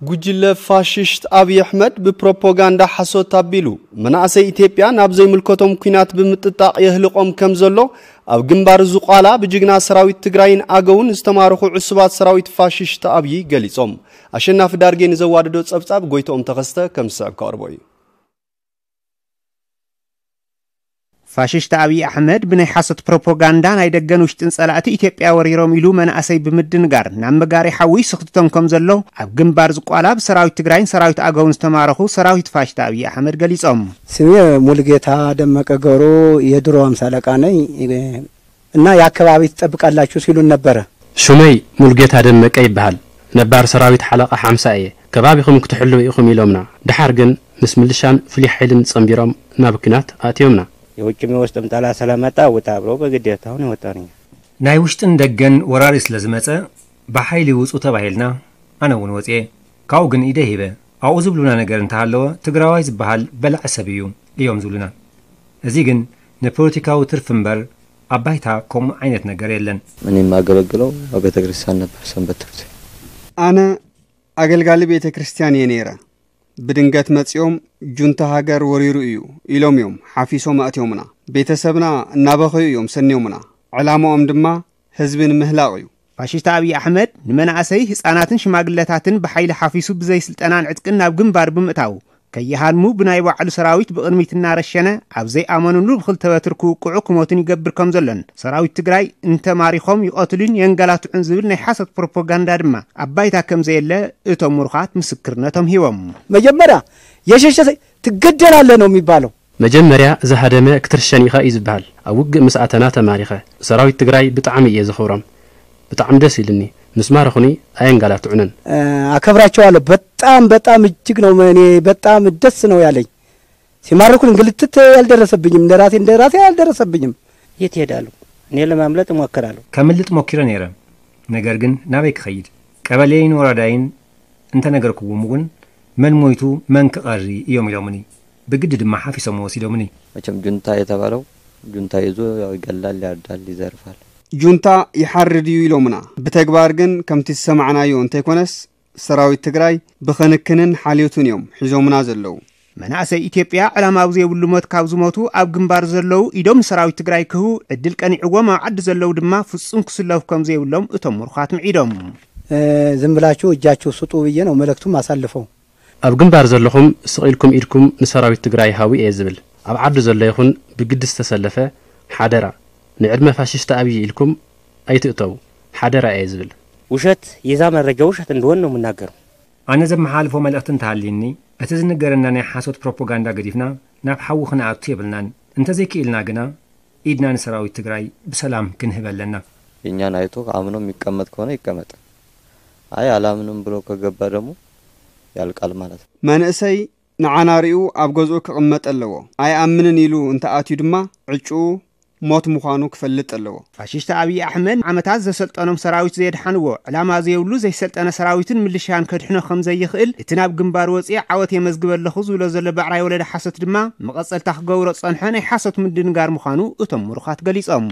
ጉጅለ ፋሽስት ኣብይ ኣሕመድ ብፕሮፓጋንዳ ሓሶት ኣቢሉ መናእሰይ ኢትዮጵያ ናብ ዘይምልከቶም ኲናት ብምጥጣቕ የህልቖም ከም ዘሎ ኣብ ግንባር ዝቋላ ብጅግና ሰራዊት ትግራይን ኣገውን ዝተማረኹ ዕሱባት ሰራዊት ፋሽስት ኣብይ ገሊጾም። ኣሸናፊ ዳርጌ ንዘዋደዶ ጸብጻብ ጎይትኦም ተኸስተ ከም ዝስዕብ ከቕርቦ እዩ። ፋሽስት ኣብይ ኣሕመድ ብናይ ሓሶት ፕሮፓጋንዳ ናይ ደገን ውሽጥን ጸላእቲ ኢትዮጵያ ወሪሮም ኢሉ መናእሰይ ብምድንጋር ናብ መጋሪ ሓዊ ስኽትቶም ከም ዘሎ ኣብ ግንባር ዝቋላ ብሰራዊት ትግራይን ሰራዊት ኣገውን ዝተማረኹ ሰራዊት ፋሽስት ኣብይ ኣሕመድ ገሊጾም። ስሜ ሙሉጌታ ደመቀ ገብሩ፣ የድሮ ሃምሳ ኣለቃ ነኝ እና የአካባቢ ትጠብቃላችሁ ሲሉን ነበረ። ሹመይ ሙሉጌታ ደመቀ ይበሃል። ነባር ሰራዊት ሓለቓ ሓምሳ እየ። ከባቢኹም ክትሕልው ኢኹም ኢሎምና። ደሓር ግን ምስ ምልሻን ፍሉይ ሓይልን ጸንቢሮም ናብ ኲናት ኣእትዮምና። የውጭም የውስጥም ጠላት ስለመጣ ውጣ ብለው በግዴታ አሁን የወጣን እኛ። ናይ ውሽጥን ደገን ወራሪ ስለ ዝመጸ ብሓይሊ ውጹ ተባሂልና ኣነ እውን ወጽኤ። ካብኡ ግን ኢደ ሂበ። ኣብኡ ዝብሉና ነገር እንተሃለወ ትግራዋይ ዝበሃል በላዒ ሰብ እዩ እዮም ዝብሉና። እዚ ግን ንፖለቲካዊ ትርፊ እምበር ኣብ ባይታ ከምኡ ዓይነት ነገር የለን። እኔ የማገለግለው በቤተ ክርስቲያን ነበር፣ ሰንበት ትምህርት ቤት። ኣነ ኣገልጋሊ ቤተ ክርስቲያን እየ ነይረ። ብድንገት መጺኦም ጁንታ ሃገር ወሪሩ እዩ ኢሎም እዮም ሓፊሶም ኣእትዮምና። ቤተሰብና እናበኸዩ እዮም ሰንዮምና። ዕላማኦም ድማ ህዝቢ ንምህላቕ እዩ። ፋሽስት ኣብይ ኣሕመድ ንመናእሰይ ህፃናትን ሽማግለታትን ብሓይሊ ሓፊሱ ብዘይ ስልጠናን ዕጥቅን ናብ ግንባር ብምእታው ከይሃልሙ ብናይ ባዕሉ ሰራዊት ብቕድሚት እናረሸነ ኣብ ዘይኣመኑሉ ብክልተ በትር ክውቅዑ ክሞቱን ይገብር ከም ዘሎን ሰራዊት ትግራይ እንተማሪኾም ይቐትሉን የንገላትዑን ዝብል ናይ ሓሶት ፕሮፓጋንዳ ድማ ኣብ ባይታ ከም ዘየለ እቶም ምሩኻት ምስክርነቶም ሂቦም። መጀመሪያ የሸሸ ትገደላለህ ነው የሚባለው። መጀመርያ ዝሃደመ ክትርሸን ኢኻ እዩ ዝበሃል። ኣብ ውግእ ምስ ኣተና ተማሪኸ። ሰራዊት ትግራይ ብጣዕሚ እየ ዘኽብሮም። ብጣዕሚ ደስ ኢልኒ። ምስ ማረኹኒ ኣየንጋላትዑንን። አከብራቸዋለሁ። በጣም በጣም እጅግ ነው እኔ በጣም ደስ ነው ያለኝ። ሲማርኩን እንግልትት ያልደረሰብኝም፣ እንደራሴ እንደራሴ ያልደረሰብኝም። የት እሄዳለሁ? እኔ ለማምለጥ እሞክራለሁ። ከምልጥ ሞኪረ ነይረ። ነገር ግን ናበይ ክኸይድ? ቀበሌይን ወረዳይን እንተነገርኩዎም እውን መን ሞይቱ መን ክቐሪ እዮም ኢሎምኒ። ብግዲ ድማ ሓፊሶም ወሲዶምኒ። መቸም ጁንታ የተባለው ጁንታ ይዞ ያው ይገላል፣ ያርዳል፣ ይዘርፋል። ጁንታ ይሓርድ እዩ ኢሎምና። ብተግባር ግን ከምቲ ዝሰማዕናዮ እንተይኮነስ ሰራዊት ትግራይ ብኽንክንን ሓልዮትን እዮም ሒዞምና ዘለዉ። መናእሰይ ኢትዮጵያ ዕላማ ኣብ ዘይብሉ ሞት ካብ ዝሞቱ ኣብ ግንባር ዘለዉ ኢዶም ንሰራዊት ትግራይ ክህቡ ዕድል ቀኒዕዎም ኣብ ዓዲ ዘለዉ ድማ ፍጹም ክስለፉ ከም ዘይብሎም እቶም ምሩኻት ምዒዶም። ዝም ብላችሁ እጃችሁ ስጡ ብዬ ነው መልእክቱም አሳልፈው። ኣብ ግንባር ዘለኹም ስቕ ኢልኩም ኢድኩም ንሰራዊት ትግራይ ሃቡ እየ ዝብል። ኣብ ዓዲ ዘሎ ይኹን ብግዲ ዝተሰለፈ ሓደራ ንዕድመ ፋሽስት ኣብይ ኢልኩም ኣይትእተው ሓደራ እየ ዝብል። ውሸት የዛ መረጃ ውሸት እንደሆን ነው የምናገረው። ኣነ ዘመሓላልፎ መልእኽቲ እንተሃልዩኒ እቲ ዝንገረና ናይ ሓሶት ፕሮፓጋንዳ ገዲፍና ናብ ሓዊ ክንኣቱ የብልናን። እንተዘይክኢልና ግና ኢድና ንሰራዊት ትግራይ ብሰላም ክንህብ ኣለና። የእኛን አይቶ አምኖ የሚቀመጥ ከሆነ ይቀመጥ። አይ አላምንም ብሎ ከገባ ደግሞ ያልቃል ማለት ነው። መንእሰይ ንዓና ሪኡ ኣብ ገዝኡ ክቕመጥ ኣለዎ። ኣይኣምንን ኢሉ እንተኣትዩ ድማ ዕጭኡ ሞት ምዃኑ ክፈልጥ ኣለዎ። ፋሽስት ኣብይ ኣሕመድ ዓመታት ዘሰልጠኖም ሰራዊት ዘየድሓንዎ ዕላማ ዘየብሉ ዘይሰልጠነ ሰራዊትን ምልሻን ከድሕኖ ከም ዘይኽእል እቲ ናብ ግንባር ወፂኤ ዓወት የመዝግብ ኣለኹ ዝብሎ ዘሎ ባዕራይ ወለደ ሓሶት ድማ መቐፀልታ ክገብሮ ዝፀንሐ ናይ ሓሶት ምድንጋር ምዃኑ እቶም ምሩኻት ገሊፆም።